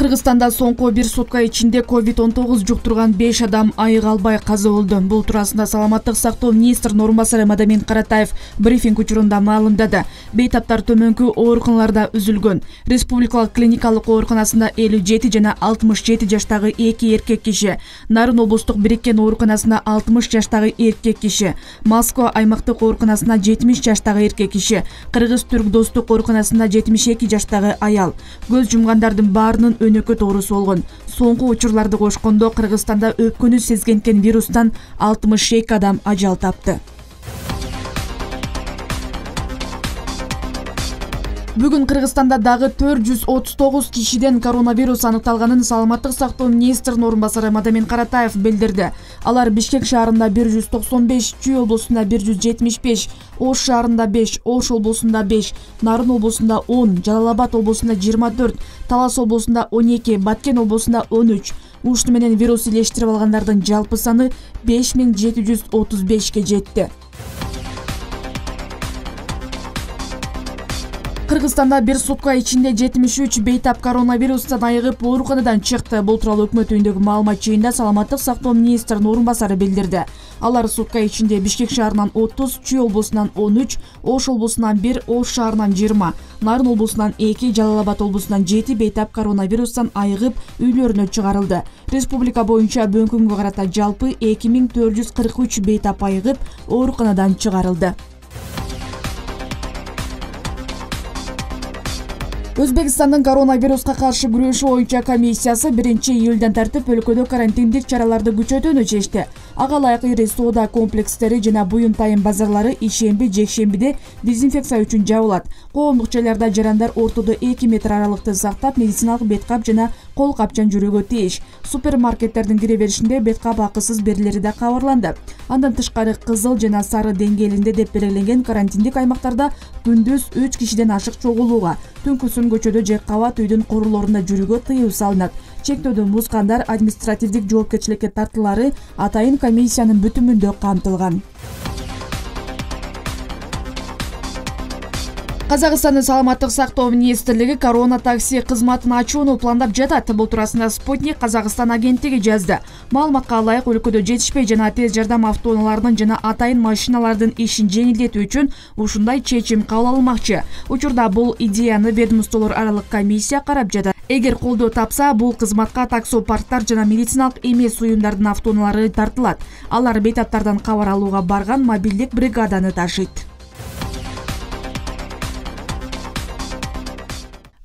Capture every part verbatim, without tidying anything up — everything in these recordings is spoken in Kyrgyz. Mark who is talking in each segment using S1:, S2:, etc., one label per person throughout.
S1: Кыргызстанда соңку бир сутка ичинде ковид он тогуз жуктурган беш адам айык албай каза болду. Бул туурасында саламаттык сактоо министринин орун басары Мадамин Каратаев брифинг учурунда маалымдады. Бейтаптар төмөнкү ооруканаларда үзүлгөн. Республикалык клиникалык ооруканасында элүү жети жана алтымыш жети жаштагы эки эркек киши, Нарын облустук бириккен ооруканасында алтымыш жаштагы эркек киши, Москва аймактык ооруканасында жетимиш жаштагы эркек киши, Кыргыз-Түрк достук ооруканасында жетимиш эки жаштагы аял. Көз жумгандардын баарынын өнөкөт оорусу болгон. Соңку учурларды кошкондо Кыргызстанда өпкөнү сезгенкен вирустан алтымыш эки адам ажал тапты. Бүгүн Кыргызстанда дагы төрт жүз отуз тогуз кишиден коронавирус аныкталганын саламаттык сактоо министринин орун басары Мадамин Каратаев билдирди. Алар Бишкек шаарында бир жүз токсон беш, Чүй облусунда бир жүз жетимиш беш, Ош шаарында беш, Ош облусунда беш, Нарын облусунда он, Жалал Абад облусунда жыйырма төрт, Талас облусунда он эки, Баткен облусунда он үч. Ушуну менен вирус илештирип алгандардын жалпы саны беш миң жети жүз отуз бешке жетти. Кыргызстанда бир сутка ичинде жетимиш үч бейтап коронавирустан айыгып ооруканадан чыкты. Бул тууралуу өкмөт үйүндөгү маалымат жыйында саламаттык сактоо министринин орун басары билдирди. Алар сутка ичинде Бишкек шаарынан отуз, Чүй облусунан он үч, Ош облусунан бир, Ош шаарынан жыйырма, Нарын облусунан эки, Жалал Абад облусунан жети бейтап коронавирустан айыгып үйлөрүнө чыгарылды. Республика боюнча бүгүнкү күнгө карата жалпы эки миң төрт жүз кырк үч бейтап айыгып ооруканадан чыгарылды. Өзбекстандын коронавируска каршы күрөшүү боюнча комиссиясы биринчи июлдан тартып өлкөдө карантиндик чараларды күчөтүүнү чечти. Ага ылайык ири соода комплекстери жана буюм тайын базарлары ишемби, жекшембиде дезинфекция үчүн жабылат. Коомдук жайларда жарандар ортодо эки метр аралыкты сактап, медициналык бет кап жана кол капчан жүрүүгө тийиш. Супермаркеттердин кире беришинде бет кап акысыз берилери да кабарланды. Андан тышкары кызыл жана сары деңгээлинде деп белгиленген карантиндик аймактарда күндүз үч кишиден ашык чогулууга, түнкүсүн көчөдө же кабат үйдүн корулорунда жүрүүгө тыюу салынат. Чектөөдөн бузгандар административдик жоопкерчиликке тартылары атайын комиссиянын бүтүмүндө камтылган. Казакстандын саламаттык сактоо министрлиги корона такси кызматын ачууну пландап жатат. Бул туурасында Спутник Казакстан агенттиги жазды. Маалыматка ылайык өлкөдө жетишпей жана тез жардам автоунааларынын жана атайын машиналардын ишин жеңилдетүү үчүн ушундай чечим кабыл алынмакчы. Учурда бул идеяны ведомстволор аралык комиссия карап жатат. Эгер колдоо тапса, бул кызматка таксопарктар жана медициналык эмес уюмдардын автоунаалары тартылат. Алар бейтаптардан кабар алууга барган мобилдик бригаданы ташыйт.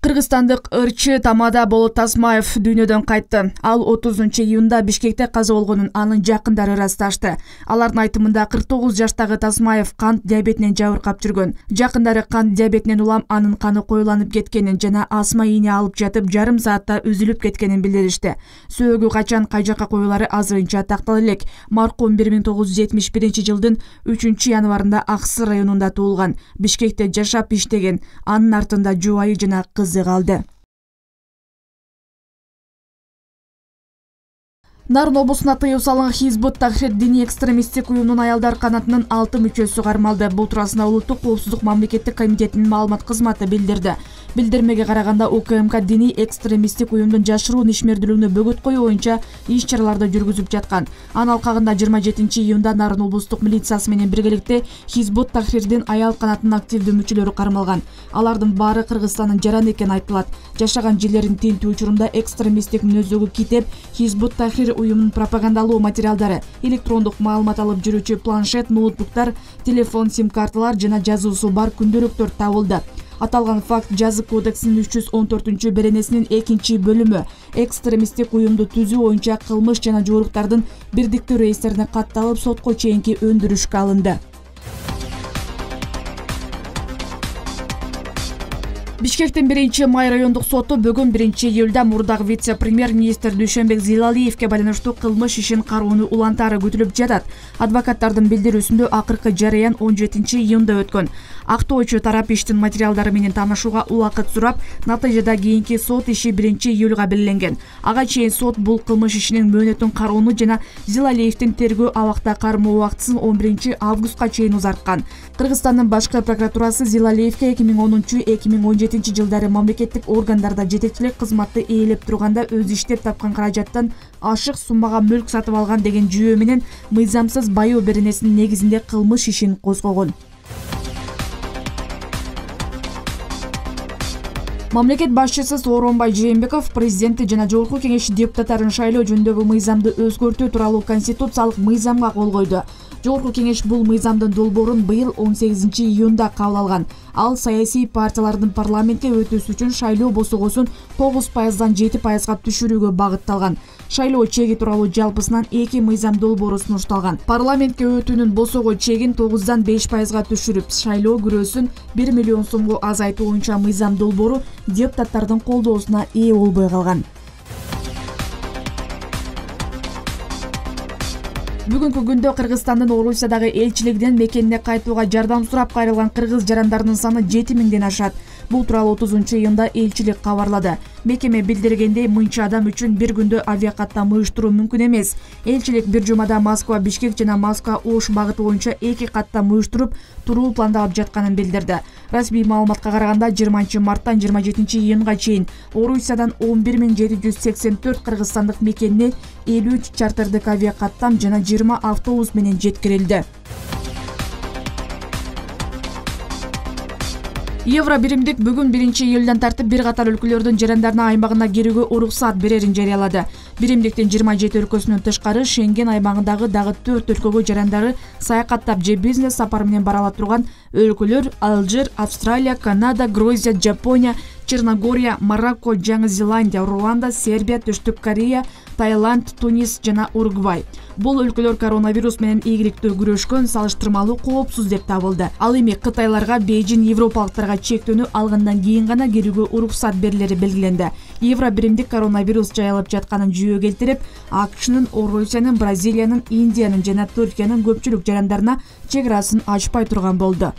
S1: Кыргызстандык ырчы Тамада Болот Тасмаев дүйнөдөн кайтты. Ал отузунчу июнда Бишкекте каза болгонун анын жакындары ырасташты. Алардын айтымында кырк тогуз жаштагы Тасмаев кант диабетинен жабыркап жүргөн. Жакындары кант диабетинен улам анын каны коюланып кеткенин жана асма ийне алып жатып жарым саатта үзүлүп кеткенин билдиришти. Сөөгү качан кай жакка коюлары азырынча тактала элек. Маркум бир миң тогуз жүз жетимиш биринчи жылдын үчүнчү январында Аксы районунда туулган. Бишкекте жашап иштеген. Анын артында жубайы жана кызы калды. Нарын облусуна тыюу салынган Хизбут Тахрир диний экстремисттик уюмунун аялдар канатынын алты мүчөсү кармалды. Бул туурасында Улуттук коопсуздук мамлекеттик комитетинин маалымат кызматы билдирди. Билдирмеге караганда УКМК диний экстремисттик уюмдун жашыруун ишмердүүлүгүнө бөгөт коюу боюнча иш чараларды жүргүзүп жаткан. Анын алкагында жыйырма жетинчи июнда Нарын облустук милициясы менен биргеликте Хизбут Тахрирдин аял канатынын активдүү мүчөлөрү кармалган. Алардын баары Кыргызстандын жараны экени айтылат. Жашаган жерлерин тинтүү учурунда экстремисттик мүнөздөгү китеп, Хизбут Тахрир уюмунун пропагандалуу материалдары, электрондук маалымат алып жүрүүчү планшет, ноутбуктар, телефон, сим-карталар жана жазуусу бар күндөөлүктөр табылды. Аталган факт Жазык кодексинин үч жүз он төртүнчү беренесинин экинчи бөлүмү экстремисттик уюмду түзүү боюнча кылмыш жана жоруктардын бирдиктүү рейстерине катталып сотко чейинки өндүрүшкө алынды. Бишкектин биринчи май райондук соту бүгүн биринчи июлда мурдагы вице-премьер-министр Дүйшөнбек Зилалиевке байланыштуу кылмыш ишин кароону улантаары күтүлүп жатат. Адвокаттардын билдирүүсүндө акыркы жарыян он жетинчи июнда өткөн. Актоочу тарап иштин материалдары менен таанышууга убакыт сурап, натыйжада кийинки сот иши биринчи июлга белгиленген. Ага чейин сот бул кылмыш ишинин мөөнөтүн кароону жана Зилалиевдин тергөө абакта кармоо убактысын он биринчи августка чейин узарткан. Кыргызстандын башкы прокуратурасы Зилалиевке эки миң онунчу эки миң он жетинчи жетинчи жылдары мамлекеттик органдарда жетекчилик кызматты ээлеп турганда өзү иштеп тапкан каражаттан ашык суммага мүлк сатып алган деген жүйө менен мыйзамсыз байоо беренесинин негизинде кылмыш ишин козгогон. Мамлекет башчысы Сооронбай Жээнбеков президенти жана Жогорку Кеңеш депутаттарын шайлоо жөнүндөгү мыйзамды өзгөртүү тууралуу конституциялык мыйзамга кол койду. Жогорку Кеңеш бул мыйзамдын долбоорун быйыл он сегизинчи июнда кабыл алган. Ал саясий партиялардын парламентке өтүүсү үчүн шайлоо босогосун тогуз пайыздан жети пайызга түшүрүүгө багытталган. Шайлоо чеги тууралуу жалпысынан эки мыйзам долбоору сунушталган. Парламентке өтүүнүн босого чегин тогуздан беш пайызга түшүрүп, шайлоо күрөөсүн бир миллион сомго азайтуу боюнча мыйзам долбоору депутаттардын колдоосуна ээ болбой калган. Бүгүнкү күндө Кыргызстандын Орусиядагы элчилигинен мекенине кайтууга жардам сурап кайрылган кыргыз жарандарынын саны жети миңден ашат. Бул тууралуу отузунчу июнда элчилик кабарлады. Мекеме билдиргендей, мынча адам үчүн бир күндө авиакаттам уюштуруу мүмкүн эмес. Элчилик бир жумада Москва Бишкек жана Москва Ош багыты боюнча эки каттам уюштуруп туруу пландалып жатканын билдирди. Расмий маалыматка караганда жыйырманчы марттан жыйырма жетинчи июнга чейин Орусиядан он бир миң жети жүз сексен төрт кыргызстандык мекенине элүү үч чартердик авиакаттам жана жыйырма автобус менен жеткирилди. Евро биримдик бүгүн биринчи июлдан тартып бир катар өлкөлөрдүн жарандарына аймагына кирүүгө уруксаат берерин жарыялады. Биримдиктин жыйырма жети өлкөсүнөн тышкары Шенген аймагындагы дагы төрт өлкөгө жарандары саякаттап же бизнес сапар менен бара ала турган өлкөлөр Алжир, Австралия, Канада, Грузия, Жапония, Черногория, Марокко, Жаңы Зеландия, Руанда, Сербия, Түштүк Корея, Таиланд, Тунис жана Уругвай. Бул өлкөлөр коронавирус менен ийгиликтүү күрөшкөн, салыштырмалуу коопсуз деп табылды. Ал эми Кытайларга, Бейжин европалыктарга чектөөнү алгандан кийин гана кирүүгө уруксаат берилери белгиленди. Евро биримдик коронавирус жайылып жатканын жүйө келтирип, АКШнын, Орусиянын, Бразилиянын, Индиянын жана Түркиянын көпчүлүк жарандарына чек арасын ачпай турган болду.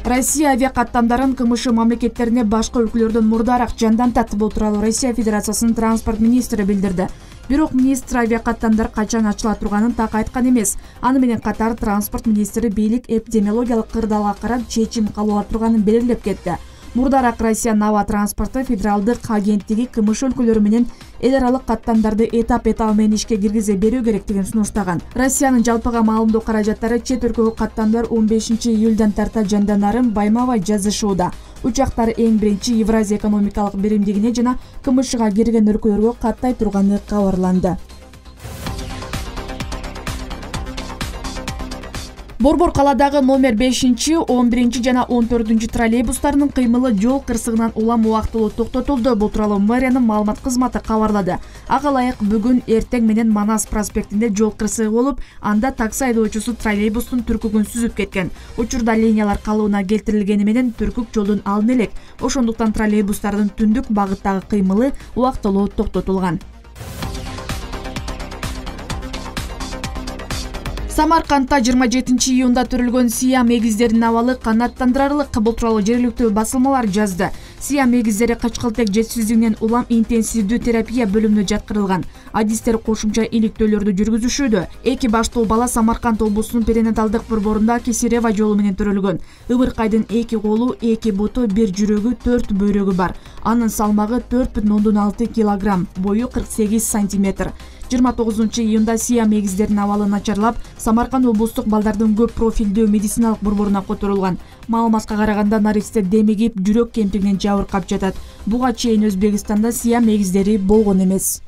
S1: Россия авиакаттамдарын КМШ мамлекеттерине башка өлкөлөрдөн мурдараак жандантат. Бул тууралуу Россия Федерациясынын транспорт министри билдирди. Бирок министр авиакаттамдар качан ачыла турганын так айткан эмес. Аны менен катар транспорт министри бийлик эпидемиологиялык кырдаалга карап чечим кабыл ала турганын белгилеп кетти. Мурдараак Россиянын аба транспорту федералдык агенттиги КМШ өлкөлөрү менен эл аралык каттамдарды этап-этап менен ишке киргизе берүү керектигин сунуштаган. Россиянын жалпыга маалымдоо каражаттары чет өлкөгө каттамдар он бешинчи июлдан тарта жанданарын байма-бай жазышууда. Учактар эң биринчи Евразия экономикалык биримдигине жана КМШга кирген өлкөлөргө каттай турганы кабарланды. Борбор каладагы номер бешинчи, он биринчи жана он төртүнчү троллейбустарынын кыймылы жол кырсыгынан улам убактылуу токтотулду. Бул тууралуу мэриянын маалымат кызматы кабарлады. Ага ылайык бүгүн эртең менен Манас проспектинде жол кырсыгы болуп, анда такси айдоочусу троллейбустун түркүгүн сүзүп кеткен. Учурда линиялар калыбына келтирилгени менен түркүк жолдун алдын элек. Ошондуктан троллейбустардын түндүк багыттагы кыймылы убактылуу токтотулган. Самаркандта жыйырма жетинчи июнда төрүлгөн Сиам эгиздеринин абалы канааттандырарлык. Бул тууралуу жергиликтүү басылмалар жазды. Сиам эгиздери качкылтек жетишсиздигинен улам интенсивдүү терапия бөлүмүнө жаткырылган. Адистер кошумча иликтөөлөрдү жүргүзүшүүдө. Эки баштуу бала Самарканд облусунун перинаталдык борборунда Кесарева жолу менен төрөлгөн. Ыбыркайдын эки колу, эки буту, бир жүрөгү, төрт бөйрөгү бар. Анын салмагы төрт бүтүн ондон алты килограмм, бою кырк сегиз сантиметр. жыйырма тогузунчу июнда Сиам эгиздеринин абалы начарлап, Самарканд облустук балдардын көп профилдүү медициналык борборуна которулган. Маалыматка караганда наристе демигип, жүрөк кемтигинен жабыркап жатат. Буга чейин Өзбекстанда Сиам эгиздери болгон эмес.